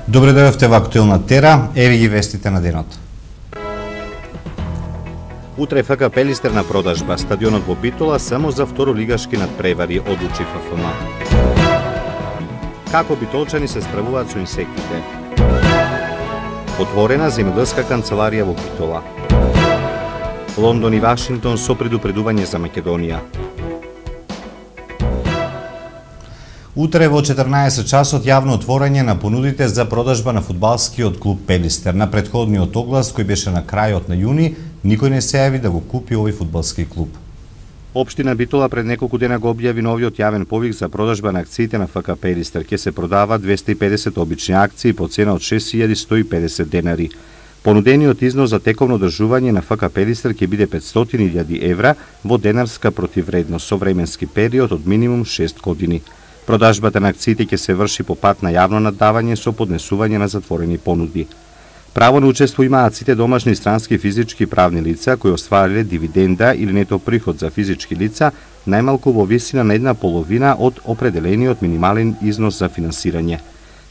Добре дојдовте во Актуелна Тера, еви ги вестите на денот. Утре ФК Пелистер на продажба, стадионот во Битола само за второлигашки надпревари, одлучи ФФМ. Како битолчани се справуваат со инсектите? Отворена земјоделска канцеларија во Битола. Лондон и Вашингтон со предупредување за Македонија. Утре во 14 часот јавно отворање на понудите за продажба на фудбалскиот клуб Пелистер. На претходниот оглас кој беше на крајот на јуни, никој не се јави да го купи овој фудбалски клуб. Општина Битола пред неколку дена го објави новиот јавен повик за продажба на акциите на ФК Пелистер. Ке се продава 250 обични акции по цена од 6150 денари. Понудениот износ за тековно одржување на ФК Пелистер ќе биде 500.000 евра во денарска противредност со временски период од минимум 6 години. Продажбата на акциите ќе се врши по пат на јавно наддавање со поднесување на затворени понуди. Право на учество имаат сите домашни странски физички и правни лица кои оствариле дивиденда или нето приход за физички лица најмалку во висина на 1/2 од определениот минимален износ за финансирање.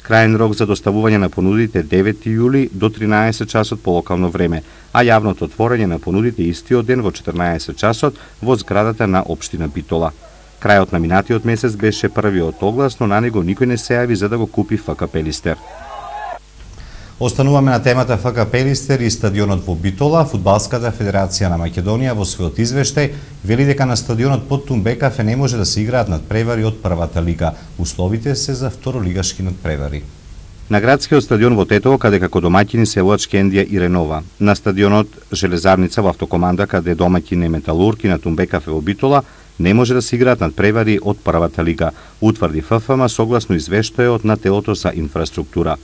Крајен рок за доставување на понудите 9 јули до 13 часот по локално време, а јавното отворање на понудите истиот ден во 14 часот во зградата на општина Битола. Крајот на минатиот месец беше првиот оглас, но на него никој не се јави за да го купи ФК Пелистер. Остануваме на темата ФК Пелистер и стадионот во Битола. Фудбалската федерација на Македонија во својот извештај вели дека на стадионот под Тумбекафе не може да се играат надпревари од првата лига. Условите се за второлигашки надпревари. На градскиот стадион во Тетово, каде како домаќини се водат Шкендија и Ренова. На стадионот Железарница во Автокоманда, каде домаќин е Металург и на Тумбекафе во Битола, не може да се играат надпревари од првата лига, утврди ФФМ согласно извештајот на телото за инфраструктура.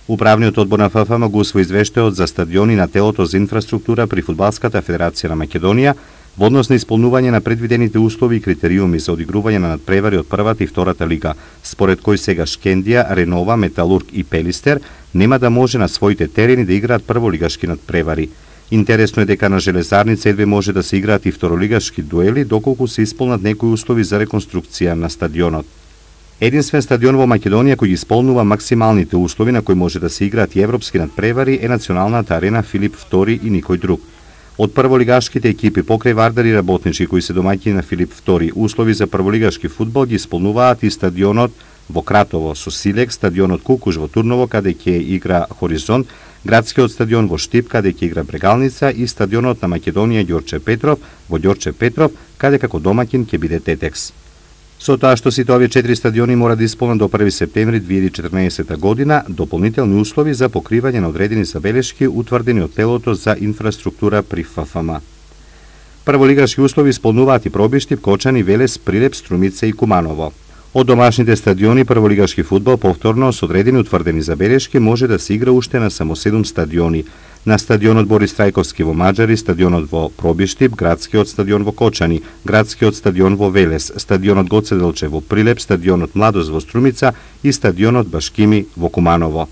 Управниот одбор на ФФМ го усвои извештајот за стадиони на телото за инфраструктура при Фудбалската федерација на Македонија во однос на исполнување на предвидените услови и критериуми за одигрување на надпревари од првата и втората лига, според кој сега Шкендија, Ренова, Металург и Пелистер нема да може на своите терени да играат прволигашки надпревари. Интересно е дека на Железарница едве може да се играат и второлигашки дуели доколку се исполнат некои услови за реконструкција на стадионот. Единствен стадион во Македонија кој ги исполнува максималните услови на кои може да се играат и европски надпревари е националната арена Филип II и никој друг. Од прволигашките екипи покрај Вардар и Работнички кои се домаќини на Филип II, услови за прволигашки фудбал ги исполнуваат и стадионот во Кратово со Силек, стадионот Кукуш во Турново каде ќе игра Хоризонт, градскиот стадион во Штип каде ќе игра Брегалница и стадионот на Македонија Ѓорче Петров во Ѓорче Петров каде како домаќин ќе биде Тетекс. Со тоа што сите овие 4 стадиони мора да исполнат до 1 септември 2014 година дополнителни услови за покривање на одредени забелешки утврдени од телото за инфраструктура при ФФМ. Прволигашки услови исполнуваат и Пробиштип, Кочани, Велес, Прилеп, Струмица и Куманово. Од домашните стадиони прволигашки фудбал повторно со одредени утврдени забелешки може да се игра уште на само 7 стадиони. На стадионот Борис Трајковски во Маџари, стадионот во Пробиштип, градскиот стадион во Кочани, градскиот стадион во Велес, стадионот Гоце Делчев во Прилеп, стадионот Младост во Струмица и стадионот Башкими во Куманово.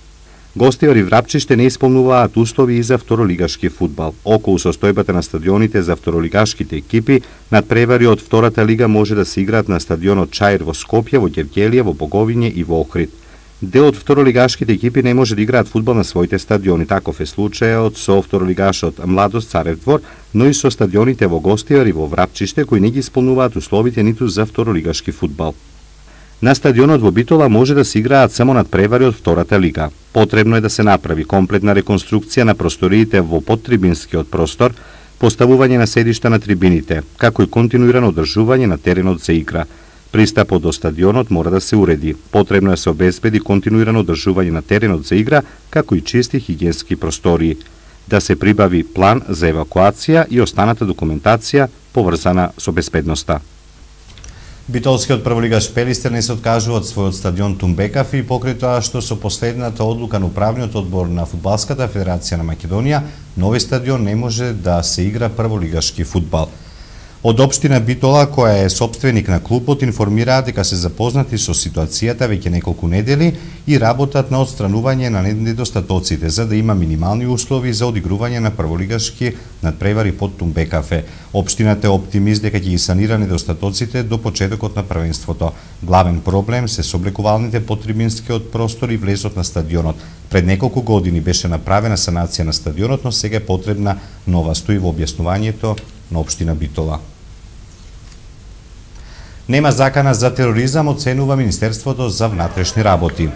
Гостиори Врапчиште не исполнуваат услови и за второлигашки фудбал. Околу состојбата на стадионите за второлигашките екипи, надпревари од втората лига може да се играат на стадионот Чаир во Скопје, во Ѓевѓелија, во Боговиње и во Охрид. Дел од второлигашките екипи не може да играат фудбал на своите стадиони. Таков е случајот со второлигашот Младост Царев двор, но и со стадионите во Гостиори во Врапчиште кои не ги исполнуваат условите ниту за второлигашки фудбал. На стадионот во Битола може да се играат само надпревари од втората лига. Потребно е да се направи комплетна реконструкција на просториите во подтрибинскиот простор, поставување на седишта на трибините, како и континуирано одржување на теренот за игра. Пристапот до стадионот мора да се уреди. Потребно е да се обезбеди континуирано одржување на теренот за игра, како и чисти хигиенски простории. Да се прибави план за евакуација и останата документација поврзана со безбедноста. Битолскиот прволигаш Пелистер не се откажува од својот стадион Тумбекафе и покрај тоа што со последната одлука на управниот одбор на Фудбалската федерација на Македонија, нови стадион не може да се игра прволигашки фудбал. Од општина Битола, која е сопственик на клубот, информираат дека се запознати со ситуацијата веќе неколку недели и работат на отстранување на недостатоците за да има минимални услови за одигрување на прволигашки надпревари под Тумбекафе. Општината е оптимист дека ќе ги санира недостатоците до почетокот на првенството. Главен проблем се сооблекувалните под трибинскиот простор и влезот на стадионот. Пред неколку години беше направена санација на стадионот, но сега е потребна нова, стои во објаснувањето на општина Битола. Нема закана за тероризам, оценува Министерството за внатрешни работи.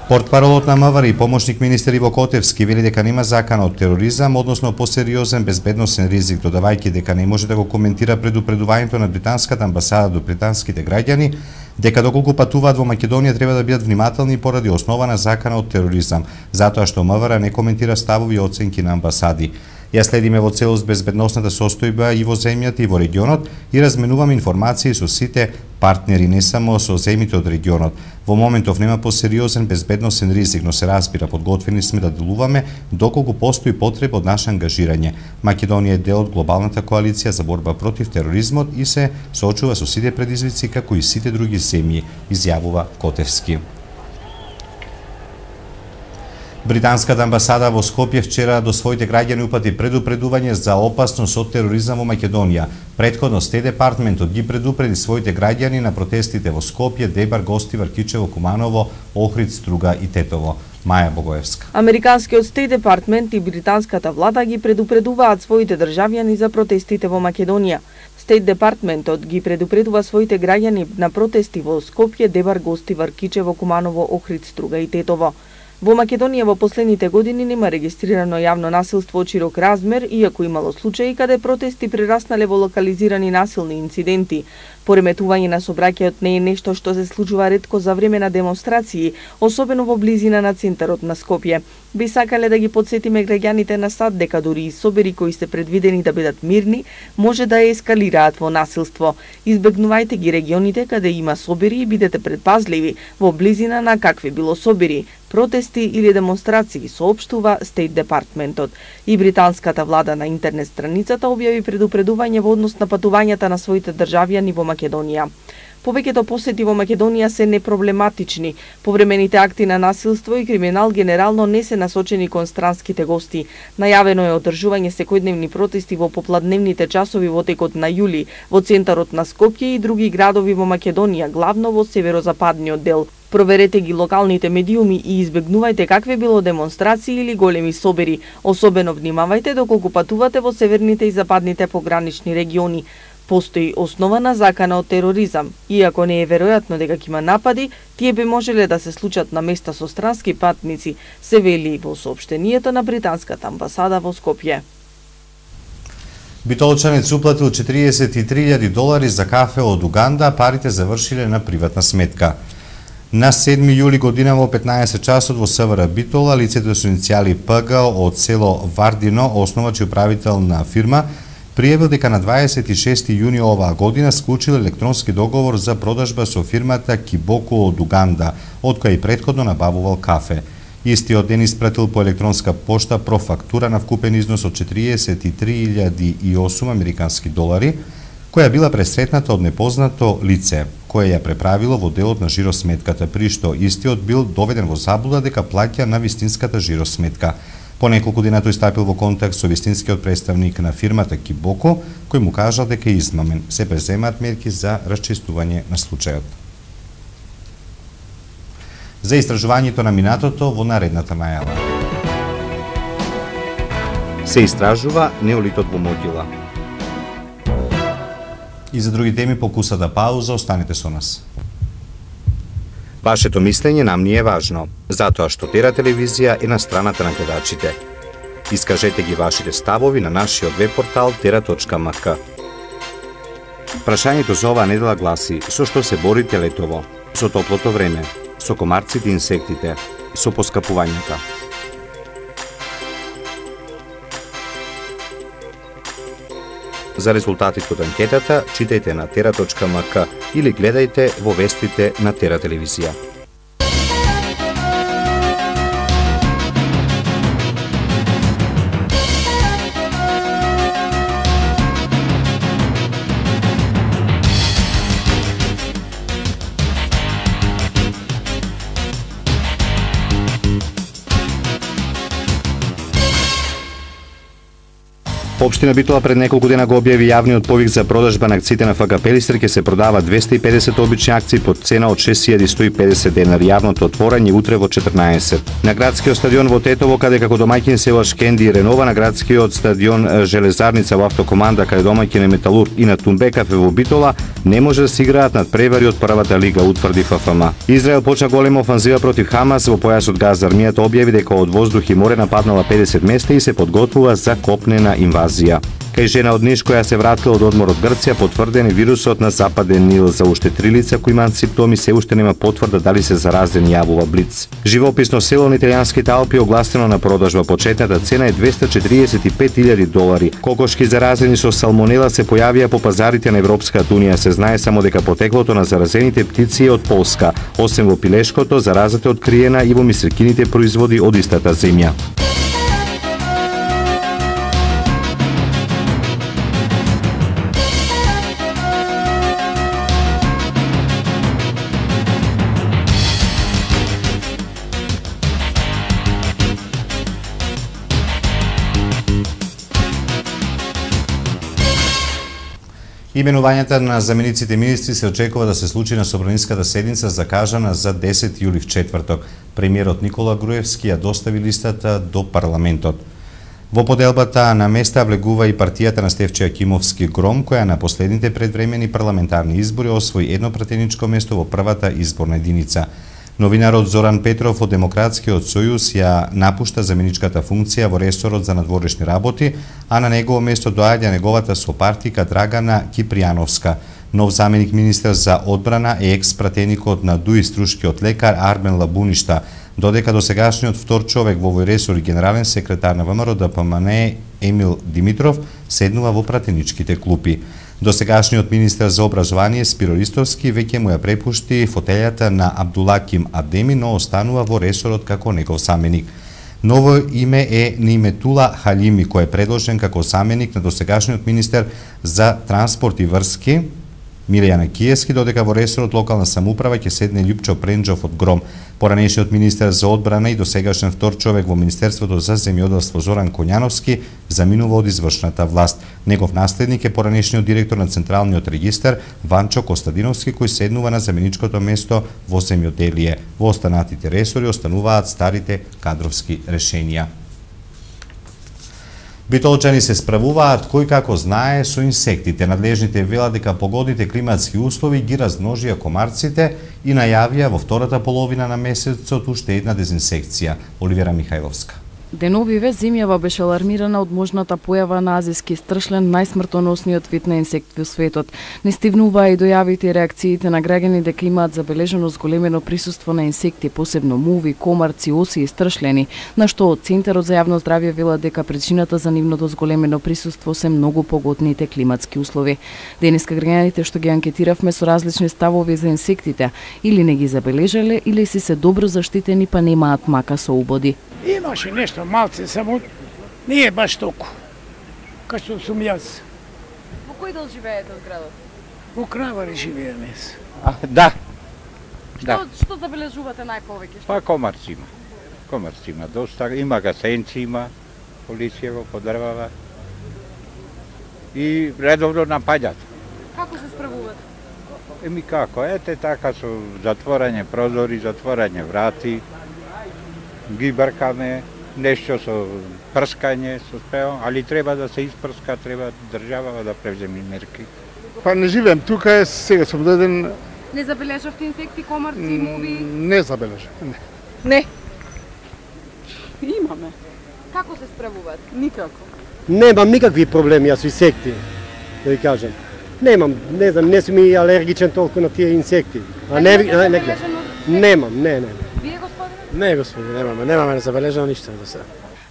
Портпаролот на МВР и помошник министер Иво Котевски вели дека нема закана од тероризам, односно посериозен безбедносен ризик, додавајќи дека не може да го коментира предупредувањето на британската амбасада до британските граѓани, дека доколку патуваат во Македонија треба да бидат внимателни поради основана закана од тероризам, затоа што МВР не коментира ставови и оценки на амбасади. Ја следиме во целост безбедносната состојба и во земјата и во регионот и разменуваме информации со сите партнери, не само со земјите од регионот. Во моментов нема посериозен безбедносен ризик, но се разбира, подготвени сме да делуваме доколку постои потреба од наше ангажирање. Македонија е дел од глобалната коалиција за борба против тероризмот и се соочува со сите предизвици како и сите други земји, изјавува Котевски. Британската амбасада во Скопје вчера до своите граѓани упати предупредување за опасност од тероризам во Македонија. Претходно Стејт департментот ги предупреди своите граѓани на протестите во Скопје, Дебар, Гостивар, Кичево, Куманово, Охрид, Струга и Тетово. Маја Богоевска. Американскиот Стејт департмент и британската влада ги предупредуваат своите државјани за протестите во Македонија. Стејт департментот ги предупредува своите граѓани на протести во Скопје, Дебар, Гостивар, Кичево, Куманово, Охрид, Струга и Тетово. Во Македонија во последните години нема регистрирано јавно насилство од широк размер, иако имало случаи каде протести прераснале во локализирани насилни инциденти. Пореметување на сообраќајот не е нешто што се случува ретко за време на демонстрации, особено во близина на центарот на Скопје. Би сакале да ги подсетиме граѓаните на САД дека дури и собери кои се предвидени да бидат мирни, може да ескалираат во насилство. Избегнувајте ги регионите каде има собери и бидете предпазливи во близина на какви било собери, протести или демонстрации, соопштува Стејт департментот. И британската влада на интернет страницата објави предупредување во однос на патувањата на своите државјани во Македонија. Повеќето посети во Македонија се непроблематични. Повремените акти на насилство и криминал генерално не се насочени кон странските гости. Најавено е одржување секојдневни протести во попладневните часови во текот на јули во центарот на Скопје и други градови во Македонија, главно во северозападниот дел. Проверете ги локалните медиуми и избегнувајте какве било демонстрации или големи собери. Особено внимавајте доколку патувате во северните и западните погранични региони. Постои основана закана од тероризам. Иако не е веројатно дека ќе има напади, тие би можеле да се случат на места со странски патници, се вели во соопштението на британската амбасада во Скопје. Битолчанец уплатил $43,000 за кафе од Уганда, а парите завршиле на приватна сметка. На 7 јули година во 15 часот во СВР Битола, лицето со иницијали ПГ од село Вардино, основач и управител на фирма, пријавил дека на 26 јуни оваа година склучил електронски договор за продажба со фирмата Кибоко од Уганда, од која и претходно набавувал кафе. Истиот ден испратил по електронска пошта профактура на вкупен износ од $43,008 американски долари, која била пресретната од непознато лице, која ја преправило во делот на жиросметката, при што истиот бил доведен во заблуда дека плаќа на вистинската жиросметка. По неколку дена тој стапил во контакт со вистинскиот представник на фирмата Кибоко, кој му кажал дека е измамен. Се преземаат мерки за расчистување на случајот. За истражувањето на минатото во наредната најава. Се истражува неолитот во Могила. И за други теми по кусата пауза, останете со нас. Вашето мислење нам ни е важно, затоа што Тера телевизија е на страната на гледачите. Искажете ги вашите ставови на нашиот веб-портал tera.mk. Прашањето за оваа недела гласи: со што се борите летово? Со топлото време, со комарците и инсектите, со поскапувањата. За резултатите од анкетата читајте на tera.mk или гледајте во вестите на Тера телевизија. Општина Битола пред неколку дена го објави јавниот повик за продажба на акциите на ФК Пелистер, ќе се продава 250 обични акции под цена од 6150 денари. Јавното отворање утре во 14. На градскиот стадион во Тетово, каде како домаќин се Лачки Енди и Ренова, на градскиот стадион Железарница во Автокоманда, каде домаќин е Металург, и на Тумбе кафе во Битола, не може да се играат надпревари од првата лига, утврди ФФМ. Израел почна голема офанзива против Хамас во појасот Газа. Армијата објави дека од воздух и море нападнала 50 места и се подготвува за копнена инвазија. Кај жена од Ниш која се вратила од одмор од Грција, потврден е вирусот на Западен Нил. За уште 3 лица кои имаат симптоми се уште нема потврда дали се заразени, јавува Блиц. Живописно село на италијанските Алпи огласено на продажба. Почетната цена е $245,000. Кокошки заразени со салмонела се појавија по пазарите на Европската унија. Се знае само дека потеклото на заразените птици е од Полска. Освен во пилешкото, заразата е откриена и во мисрекините производи од истата земја. Именувањата на замениците министри се очекува да се случи на собраниската седница закажана за 10 јули в четврток. Премиерот Никола Груевски ја достави листата до парламентот. Во поделбата на места влегува и партијата на Стефче Акимовски Гром, која на последните предвремени парламентарни избори освои едно пратеничко место во првата изборна единица. Новинарот Зоран Петров од Демократскиот сојуз ја напушта заменичката функција во ресорот за надворешни работи, а на негово место доаѓа неговата сопартика Драгана Кипријановска. Нов заменик министер за одбрана е екс-пратеникот на ДУИ струшкиот лекар Армен Лабуништа, додека досегашниот втор човек во овој ресор и генерален секретар на ВМРО ДПМНЕ Емил Димитров седнува во пратеничките клупи. Досегашниот министер за образование Спиро Ристовски веќе му ја препушти фотелјата на Абдулаким Адеми, но останува во ресорот како негов заменик. Ново име е Ниметула Халими, кој е предложен како заменик на досегашниот министер за транспорт и врски Милијана Киевски, додека во ресорот локална самоуправа ќе седне Љупчо Пренџов од Гром. Поранешниот министер за одбрана и досегашен втор човек во Министерството за земјоделство Зоран Коњановски заминува од извршната власт. Негов наследник е поранешниот директор на Централниот регистар Ванчо Костадиновски, кој седнува на заменичкото место во земјоделие. Во останатите ресори остануваат старите кадровски решенија. Битолчани се справуваат кој како знае со инсектите. Надлежните велат дека погодните климатски услови ги размножија комарците и најавија во втората половина на месецот уште една дезинсекција. Оливера Михајловска. Деновиве земјава беше алармирана од можната појава на азиски стршлен, најсмртоносниот вид на инсект во светот. Не стивнуваа и дојавите и реакциите на граѓани дека имаат забележено зголемено присуство на инсекти, посебно муви, комарци, оси и стршлени, на што од Центарот за јавно здравје велат дека причината за нивното зголемено присуство се многу погодните климатски услови. Денеска граѓаните што ги анкетиравме со различни ставови за инсектите, или не ги забележале, или си се добро заштитени па немаат мака со убоди. Имаше нешто малце, само не е баш толку, кај што сум јас. Во кој дел живеете од градот? Во Кравари живееме. Да. Што забележувате најповеќе? Па комарци има. Комарци има доста, има гасенци, има полиција го подрвава и редовно напаѓат. Како се справувате? Еми како, ете така со затворање прозори, затворање врати, ги бркаме, нешто со прскање, со спео, али треба да се испрска, треба држава да превземе мерки. Па не живеем тука, сега сум доден. Не забележавте инсекти, комарци, муви? Не забележав, не. Не. Имаме. Како се справувате? Никако. Немам никакви проблеми јас со инсекти, да ви кажам. Немам, не знам, не сум и алергичен толку на тие инсекти. А не немам, не. Вие, господине? Не, господине, немаме забележано ништо до сега.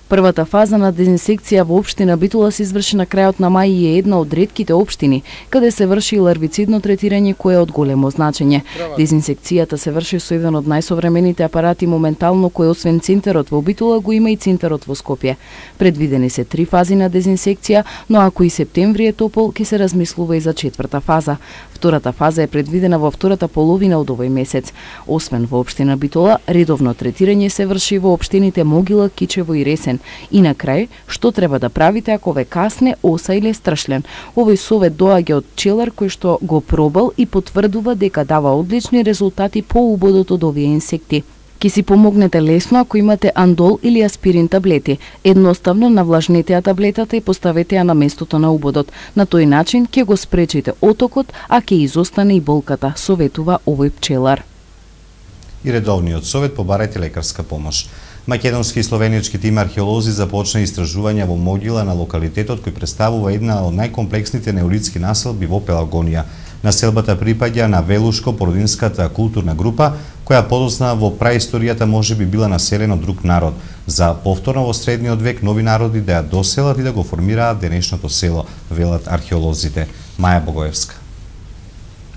Првата фаза на дезинсекција во општина Битола се изврши на крајот на мај и е една од ретките општини каде се врши ларвицидно третирање кое е од големо значење. Дезинсекцијата се врши со еден од најсовремените апарати моментално кој освен центарот во Битола го има и центарот во Скопје. Предвидени се 3 фази на дезинсекција, но ако и септември е топол, ќе се размислува и за 4-та фаза. Втората фаза е предвидена во втората половина од овој месец. Освен во општина Битола, редовно третирање се врши во општините Могила, Кичево и Ресен, И на крај, што треба да правите ако ве касне оса или страшлен? Овој совет доаѓа од пчелар кој што го пробал и потврдува дека дава одлични резултати по убодот од овие инсекти. Ки си помогнете лесно ако имате андол или аспирин таблети. Едноставно навлажнете ја таблетата и поставете ја на местото на убодот. На тој начин ќе го спречите отокот, а ќе изостане и болката, советува овој пчелар. И редовниот совет побарајте лекарска помош. Македонски и словенички тим археолози започна истражување во могила на локалитетот кој представува една од најкомплексните неолитски населби во Пелагонија. Населбата припаѓа на Велушко-Породинската културна група, која подоцна во праисторијата можеби била населена од друг народ, за повторно во средниот век нови народи да ја доселат и да го формираат денешното село, велат археолозите. Маја Богоевска.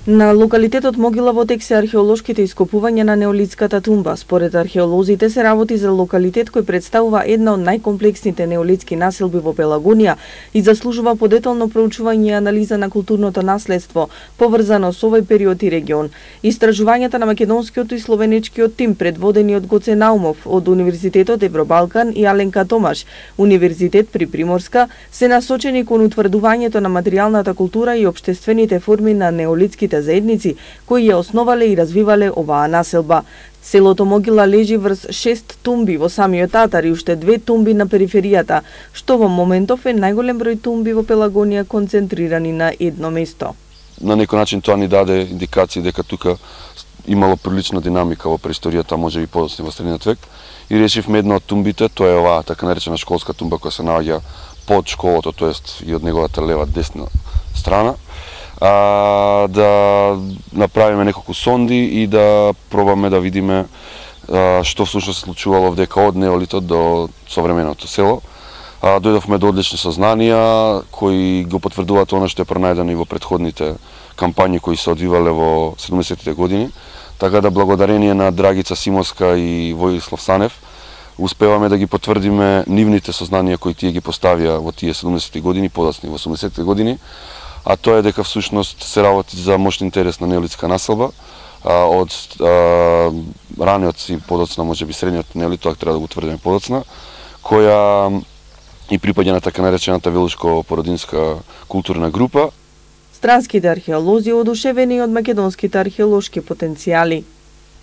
На локалитетот Могила во тек се археолошките ископувања на неолитската тумба. Според археолозите се работи за локалитет кој представува една од најкомплексните неолитски населби во Пелагонија и заслужува подетално проучување и анализа на културното наследство, поврзано со овој период и регион. Истражувањата на македонскиот и словеничкиот тим, предводени од Гоце Наумов од Универзитетот Евробалкан и Аленка Томаш, Универзитет при Приморска, се насочени кон утврдувањето на материјалната култура и општествените форми на неолитските заедници кои ја основале и развивале оваа населба. Селото Могила лежи врз 6 тумби во самиот Татар и уште 2 тумби на периферијата, што во моментов е најголем број тумби во Пелагонија концентрирани на едно место. На некој начин тоа ни даде индикација дека тука имало прилична динамика во преисторијата, можеби подоцна во средниот век, и решивме една од тумбите, тоа е оваа така наречена школска тумба која се наоѓа под школото, тоест и од неговата лева десна страна, да направиме неколку сонди и да пробаме да видиме што всушност се случувало овдека од неолитот до современото село. Дојдовме до одлични сознанија кои го потврдуваат она што е пронајдено и во претходните кампањи кои се одвивале во 70-тите години. Така да благодарение на Драгица Симовска и Војислав Санев успеваме да ги потврдиме нивните сознанија кои тие ги поставија во тие 70-ти години, подоцна во 80-ти години, а тоа е дека всушност се работи за мощен интерес на неолитска населба, од раниот и подоцна, можеби средниот неолит, тоа треба да го утврдиме подоцна, која и припаѓа на така наречената Велушко-Породинска културна група. Странските археолози одушевени од македонските археолошки потенцијали.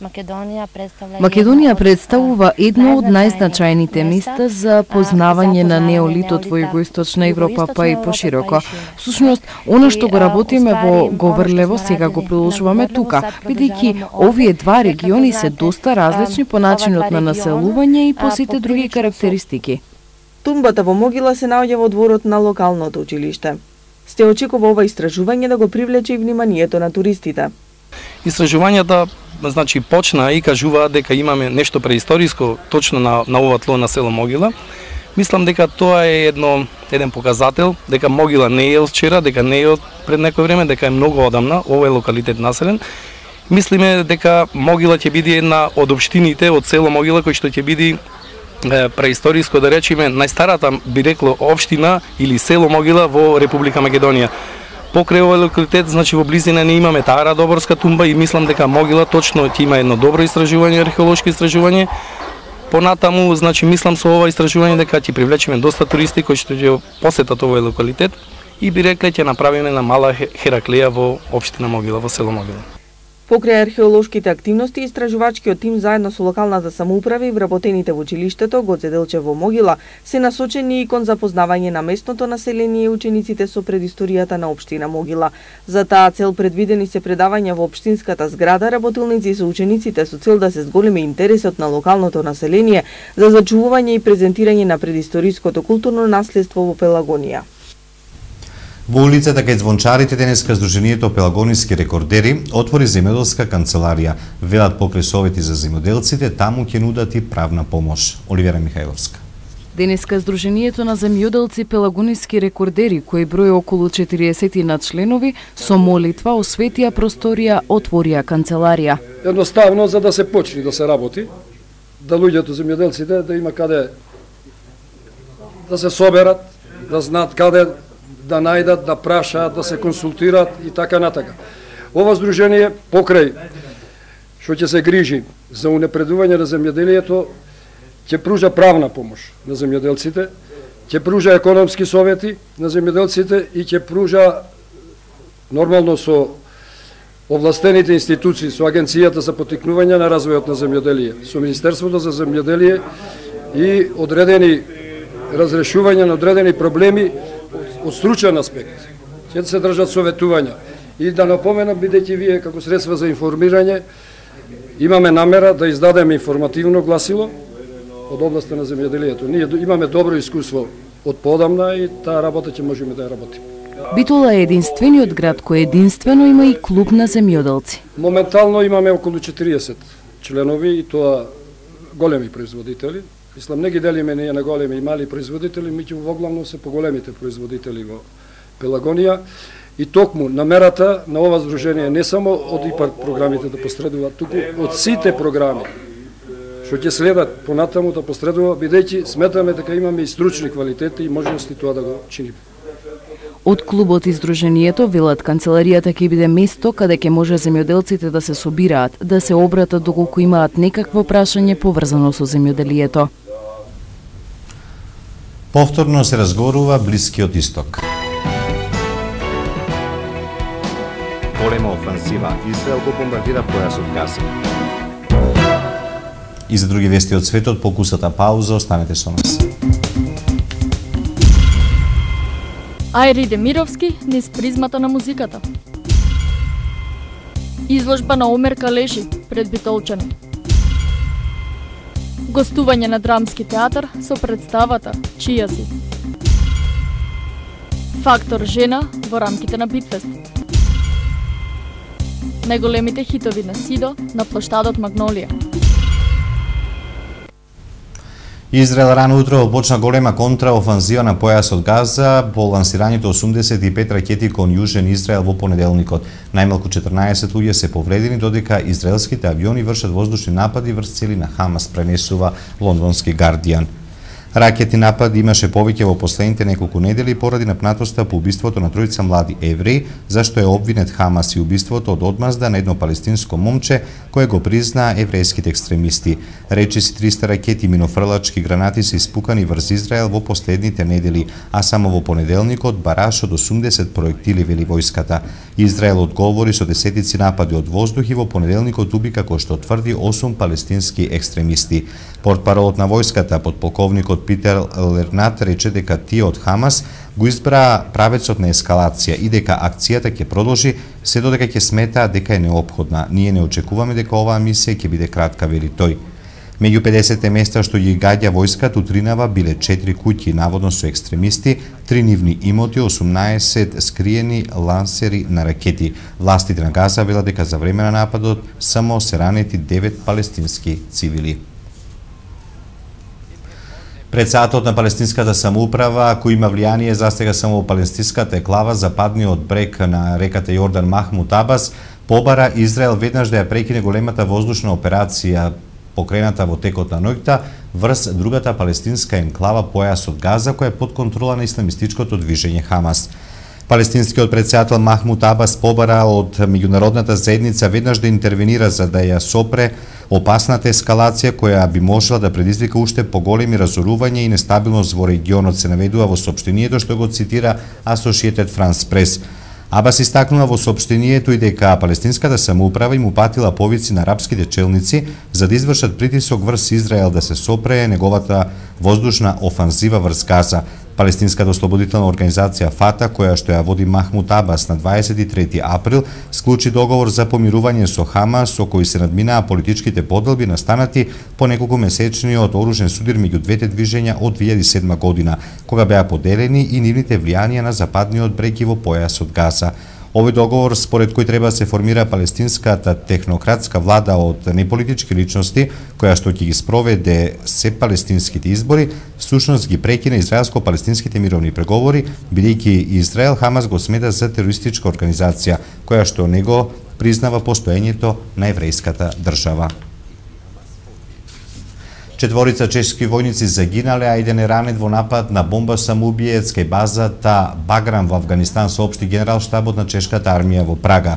Македонија представува едно од најзначајните места за познавање на неолитот во Југоисточна Европа, па и пошироко. Всушност, она што го работиме во Говорлево, сега го продолжуваме тука, бидејќи овие два региони се доста различни по начинот на населување и по сите други карактеристики. Тумбата во Могила се наоѓа во дворот на локалното училиште. Се очекува ова истражување да го привлече и вниманието на туристите. Истражувањата почна и кажуваат дека имаме нешто преисториско точно на ова тло на село Могила. Мислам дека тоа е еден показател дека Могила не е од вчера, дека не е од пред некој време, дека е многу одамна овој локалитет населен. Мислиме дека Могила ќе биде една од општините од село Могила кој што ќе биде преисториско, да речеме, најстарата, би рекло, општина или село Могила во Република Македонија. Покрај овој локалитет, во близина не имаме таа Радоборска тумба и мислам дека Могила точно ќе има едно добро истражување, археолошко истражување. Понатаму, мислам со ова истражување дека ќе привлечеме доста туристи кои што ќе посетат овој локалитет и би рекле ќе направиме една мала Хераклеја во општина Могила, во село Могила. Покрај археолошките активности, истражувачкиот тим заедно со локалната самоуправа и вработените во училиштето Гоце Делчев во Могила се насочени и кон запознавање на местното население и учениците со предисторијата на општина Могила. За таа цел предвидени се предавања во општинската зграда, работилници со учениците со цел да се зголеми интересот на локалното население за зачувување и презентирање на предисториското културно наследство во Пелагонија. Во улицата кај Звончарите денеска Сдруженијето Пелагониски рекордери отвори земјоделска канцеларија. Велат покрај совети за земјоделците, таму ќе нудат и правна помош. Оливера Михајловска. Денеска Сдруженијето на земјоделци Пелагониски рекордери, кој број околу 40 на членови, со молитва осветија просторија, отворија канцеларија. Едноставно за да се почне да се работи, да луѓето земјоделците да има каде да се соберат, да знаат каде да најдат, да прашаат, да се консултираат и така натака. Ова здружение покрај што ќе се грижи за унапредување на земјоделието ќе пружа правна помош на земјоделците, ќе пружа економски совети на земјоделците и ќе пружа нормално со овластените институции, со Агенцијата за поттикнување на развојот на земјоделие, со Министерството за земјоделие и одредени разрешување на одредени проблеми од стручен аспект. Ќе се држат советувања. И да напоменам, бидејќи вие како средства за информирање имаме намера да издадеме информативно гласило од областа на земјоделието. Ние имаме добро искуство од подамна и таа работа ќе можеме да ја работиме. Битола е единствениот град кој единствено има и клуб на земјоделци. Моментално имаме околу 40 членови и тоа големи производители. Мислам, не ги делиме ние на големи и мали производители, меѓу воглавно се поголемите производители во Пелагонија. И токму намерата на ова здружение не само од ИПАР програмите да посредуваат, туку од сите програми што ќе следат понатаму да посредува, бидејќи сметаме дека имаме и стручни квалитети и можности тоа да го чиниме. Од клубот и здруженијето велат канцеларијата ќе биде место каде ќе може земјоделците да се собираат, да се обратат доколку имаат некакво прашање поврзано со земјоделието. Повторно се разговорува Блискиот исток. Голема офанзива. Израел го бомбардира појасот Газа. И за други вести од светот, покусата пауза, останете со нас. Ајри Демировски низ призмата на музиката. Изложба на Омер Калеши пред битолчани. Гостување на драмски театар со представата Чија си. Фактор жена во рамките на Битфест. Најголемите хитови на Сидо на плоштадот Магнолија. Израел рано утро почна голема контраофанзива на појасот Газа по лансирањето 85 ракети кон Јужен Израел во понеделникот. Најмалку 14 луѓе се повредени, додека израелските авиони вршат воздушни напади врз цели на Хамас, пренесува лондонски Гардијан. Ракетни напади имаше повеќе во последните неколку недели поради напнатоста по убиството на тројца млади евреи, зашто е обвинет Хамас и убиството од одмазда на едно палестинско момче кое го признаа еврејските екстремисти. Речиси 300 ракети и минофрлачки гранати се испукани врз Израел во последните недели, а само во понеделникот бараш од 80 проектили, вели војската. Израел одговори со десетици напади од воздух и во понеделникот уби, како што тврди, 8 палестински екстремисти. Портпаролот на војската, подполковникот Питер Лернат, рече дека тие од Хамас го избра правецот на ескалација и дека акцијата ќе продолжи се додека ќе сметаа дека е неопходна. Ние не очекуваме дека оваа мисија ќе биде кратка, вели тој. Меѓу 50 места што ги гаѓа војската утринава биле 4 куќи, наводно со екстремисти, 3 нивни имоти, 18 скриени лансери на ракети. Властите на Газа велат дека за време на нападот само се ранети 9 палестински цивили. Председателот на палестинската самоуправа, кој има влијание застега само во палестинската еклава, западниот брег на реката Јордан Махмут Абас, побара Израел веднаш да ја прекине големата воздушна операција покрената во текот на ноќта врз другата палестинска енклава појасот Газа, која е под контрола на исламистичкото движење Хамас. Палестинскиот председател Махмут Абас побара од меѓународната заедница веднаш да интервенира за да ја сопре опасната ескалација која би можела да предизвика уште поголеми разорувања и нестабилност во регионот, се наведува во соопштението што го цитира Associated Press. Абас истакнува во соопштението и дека палестинската самоуправа им упатила повици на арапските челници за да извршат притисок врз Израел да се сопре неговата воздушна офанзива врз Газа. Палестинската ослободителна организација ФАТА, која што ја води Махмут Абас на 23 април, склучи договор за помирување со Хамас, со кој се надминаа политичките поделби настанати по неколку месечниот оружен судир меѓу двете движења од 2007 година, кога беа поделени и нивните влијанија на западниот брег и во појасот Газа. Овој договор, според кој треба да се формира палестинската технократска влада од неполитички личности, која што ќе ги спроведе се палестинските избори, всушност ги прекина израелско-палестинските мировни преговори, бидејќи Израел Хамас го смета за терористичка организација, која што не го признава постоењето на еврејската држава. Четворица чешки војници загинале, а еден е ранет во напад на бомба самоубиец кај базата Баграм во Авганистан, соопшти генерал штабот на чешката армија во Прага.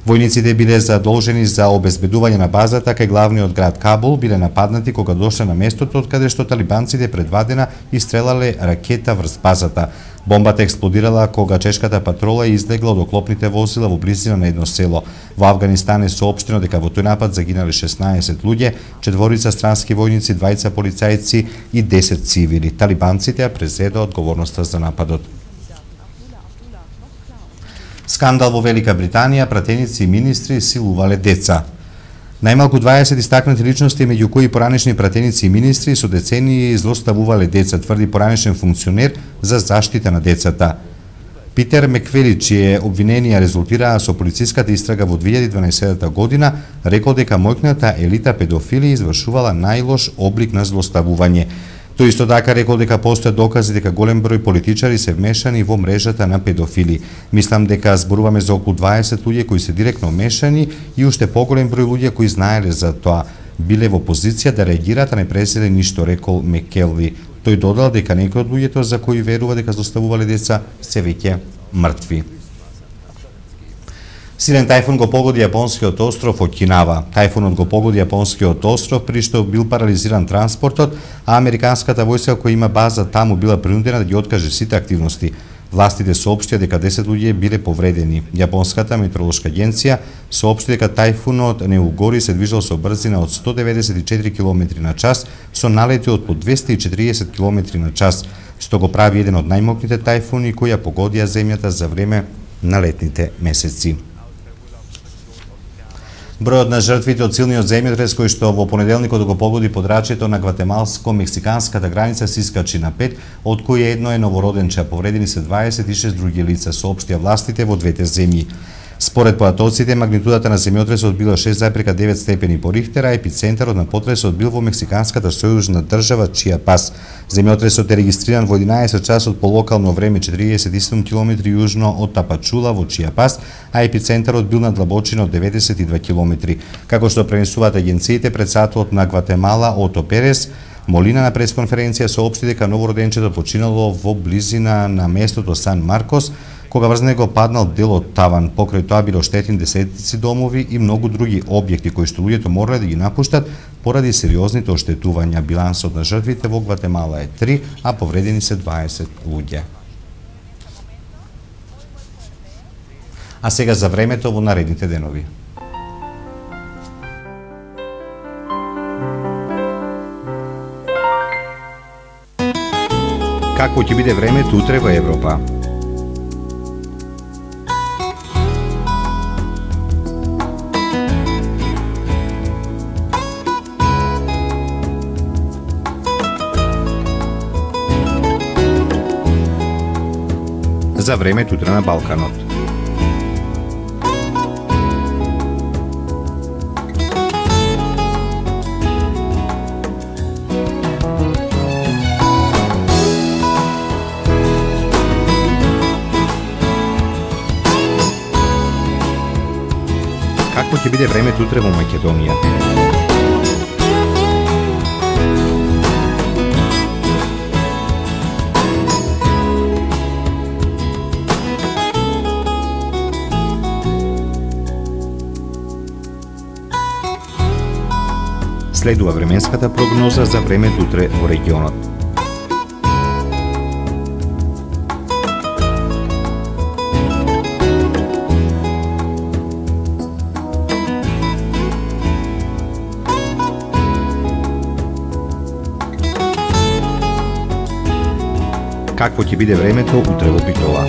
Војниците биле задолжени за обезбедување на базата кај главниот град Кабул, биле нападнати кога дошле на местото од каде што талибанците предвадена истрелале ракета врз базата. Бомбата експлодирала кога чешката патрола излегла од оклопните возила во близина на едно село. Во Авганистан е соопштено дека во тој напад загинале 16 луѓе, 4 странски војници, 2 полицајци и 10 цивили. Талибанците ја презеда одговорноста за нападот. Скандал во Велика Британија, пратеници и министри силувале деца. Најмалку 20 истакнати личности, меѓу кои поранешни пратеници и министри, со децении злоставувале деца, тврди поранешен функционер за заштита на децата. Питер Меквели, чие обвиненија резултираа со полициската истрага во 2012 година, рекол дека мојкната елита педофили извршувала најлош облик на злоставување. Тој исто така рекол дека постојат докази дека голем број политичари се вмешани во мрежата на педофили. Мислам дека зборуваме за околу 20 луѓе кои се директно вмешани и уште поголем број луѓе кои знаеле за тоа. Биле во позиција да реагираат, а не преселе ништо, рекол Мекелви. Тој додал дека некои од луѓето за кои верува дека злоставувале деца се веќе мртви. Силен тајфун го погоди јапонскиот остров Окинава. Тајфунот го погоди јапонскиот остров при што бил парализиран транспортот, а американската војска која има база таму била принудена да ги откаже сите активности. Властите соопштија дека 10 луѓе биле повредени. Јапонската метеоролошка агенција соопшти дека тајфунот Неугори се движел со брзина од 194 км/ч со налети од по 240 км/ч, што го прави еден од најмокрите тајфуни кои ја погодија земјата за време на летните месеци. Бројот на жртвите од силниот земјотрес кој што во понеделникот го погоди подрачјето на гватемалско-мексиканската граница се искачи на 5, од кои едно е новороденче, повредени се 26 други лица, соопштија властите во двете земји. Според поdatоците, магнитудата на земјотресот била 6,9 степени по Рихтер, а епицентарот на потресот бил во мексиканската сојужна држава Чиапас. Земјотресот е регистриран во 11 часот по локално време 47 км јужно од Тапачула во Чиапас, а епицентарот бил на длабочина од 92 км. Како што пренесуваат агенциите, председателот на Гватемала Ото Перес Молина на пресконференција соопшти дека новороденчето починало во близина на местото Сан Маркос, кога врз него паднал дел од таван. Покрај тоа било оштетени десетици домови и многу други објекти кои што луѓето морале да ги напуштат поради сериозните оштетувања. Билансот на жртвите во Гватемала е 3, а повредени се 20 луѓе. А сега за времето во наредните денови. Какво ќе биде времето утре во Европа? За времето утре на Балканот. Какво ќе биде времето утре во Македонија? Следува временската прогноза за времето утре во регионот. Какво ќе биде времето утре во Битола?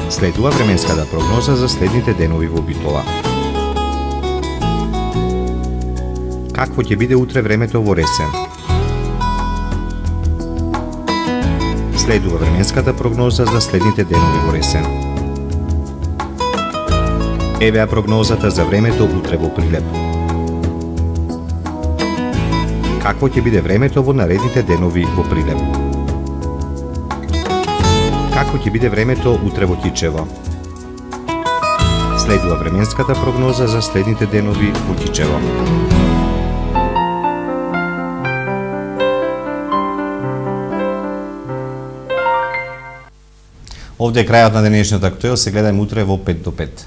Следува временската прогноза за следните денови во Битола. Какво ќе биде утре времето во Ресен? Следува временската прогноза за следните денови во Ресен. Евеа прогнозата за времето утре во Прилеп. Какво ќе биде времето во наредните денови во Прилеп? Какво ќе биде времето утре во Кичево? Следува временската прогноза за следните денови во Кичево. Овде е крајот на денешниот актуел, се гледајме утре во 5 до 5.